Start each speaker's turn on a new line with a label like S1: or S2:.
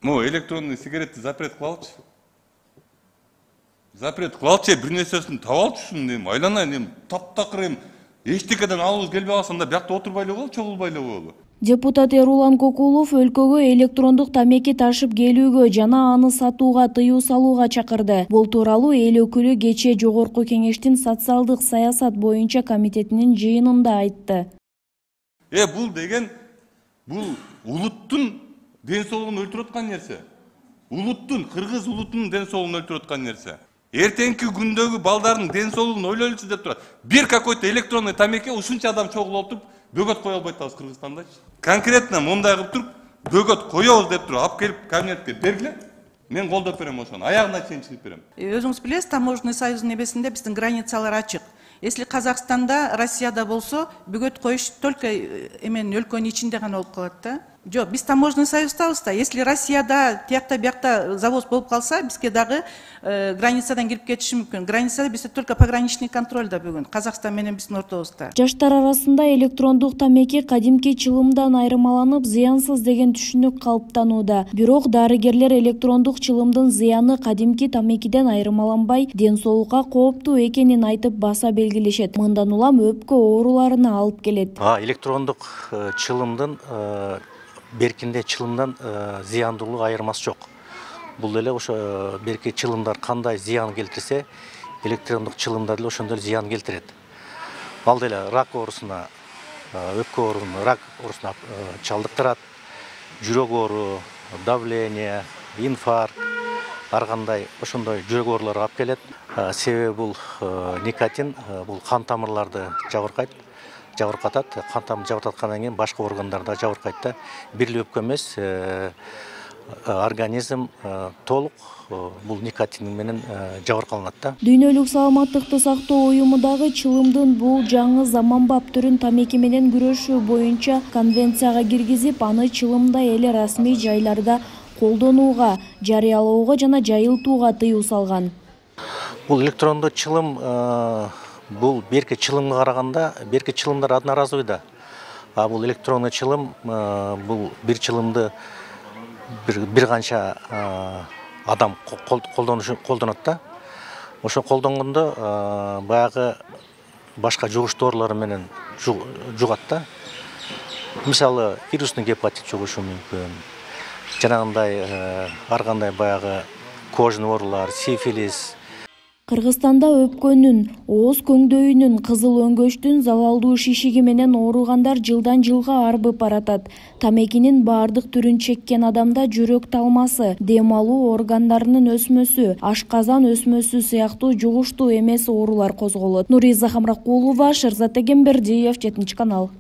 S1: Могу электронный сигаретти запрет кылалычы. Запрет кылалычы, бир нерсесин таап алчысың, эми айланайын, эми таптакыр эми эчтекеден алыбыз келбей калса, анда биякта отурбай эле коелу, чогулбай эле коелу.
S2: Депутат Эрулан Кокулов өлкөгө электрондук тамеки ташып келүүгө жана аны сатууга тыюу салууга чакырды. Бул тууралуу эл өкүлү кечээ Жогорку Кеңештин социалдык саясат боюнча комитетинин жыйынында айтты.
S1: Бул деген бул улуттун ден соолугун өлтүрүп аткан нерсе. Улуттун, кыргыз улутунун ден соолугун өлтүрүп аткан нерсе. Эртеңки күндөгү балдардын ден соолугун ойлойлучу деп турат. Бир какой-то электронный тамеки ушунча адам чогулуп отуруп бөгөт кое албайт атабыз Кыргызстандачы. Конкретно мындай кылып туруп бөгөт коебуз деп туруп алып келип кабинетке бергиле. Мен колдоп берем ошону, аягына чейин чыгып берем.
S3: Өзүңүз билесиз, таможенный союздун небесинде биздин границалар ачык. Если Казакстанда, Россияда болсо, бөгөт коюш только эмен өлкөнүн ичинде гана болуп калат да. Жок, биз таможенный союздабыз да. Если Россияда, тиякта биякта завоз болуп калса, бизге дагы границадан кирип кетиши мүмкүн. Границада бизде только пограничный контроль да бүгүн. Казакстан менен биздин ортобузда.
S2: Жаштар арасында электрондук тамеки кадимки чылымдан айырмаланып, зыянсыз деген түшүнүк калыптанууда. Бирок дарыгерлер электрондук чылымдын зыяны кадимки тамекиден айырмаланбай, ден соолукка кооптуу экенин айтып баса белгилешет. Мындан улам өпкө ооруларына алып келет.
S4: Электрондук чылымдын беркинде чылымдан зыяндуулук айырмасы жок. Бул эле ошо берки чылымдар кандай зыян келтирсе, электрондук чылымдар деле ошондой зыян келтирет. Ал деле рак оорусуна, өпкө оорусуна, рак оорусуна чалдыктырат, жүрөк оору, давление, инфаркт, ар кандай ошондой жүрөк ооруларга алып келет. Себеби бул никотин бул кан тамырларды жабыркатат. Кан тамырын жабыркаткандан кийин башка органдарда жабыркайт да. Бир эле өпкө эмес, организм толук бул никотин менен жабыркаланат да.
S2: Дүйнөлүк саламаттыкты сактоо уюму дагы чылымдын бул жаңы заманбап түрүн тамеки менен күрөшүү боюнча конвенцияга киргизип, аны чылымдай эле расмий жайларда колдонууга, жарыялоого жана жайылтууга тыюу салган.
S4: Бул электрондуу чылым бул берки чылымга караганда, берки чылымдар одноразовый да. А бул электронный чылым бул бир чылымды бир канча адам колдонот да. Ошо колдонгондо баягы башка жугуш доорулар менен жугат да. Мисалы, вирусный гепатит жугушу мүмкүн. Жанагындай ар кандай баягы кожный оорулар, сифилис.
S2: Кыргызстанда өпкөнүн, ооз көңдөйүнүн, кызыл өңгөчтүн, залалдуу шишиги менен ооругандар жылдан жылга арбып баратат. Тамекинин баардык түрүн чеккен адамда жүрөк талмасы, дем алуу органдарынын өсмөсү, ашказан өсмөсү сыяктуу жугуштуу эмес оорулар козголот. Нуриза Хамракулова, Шерзат Эгембердиев, 7 канал.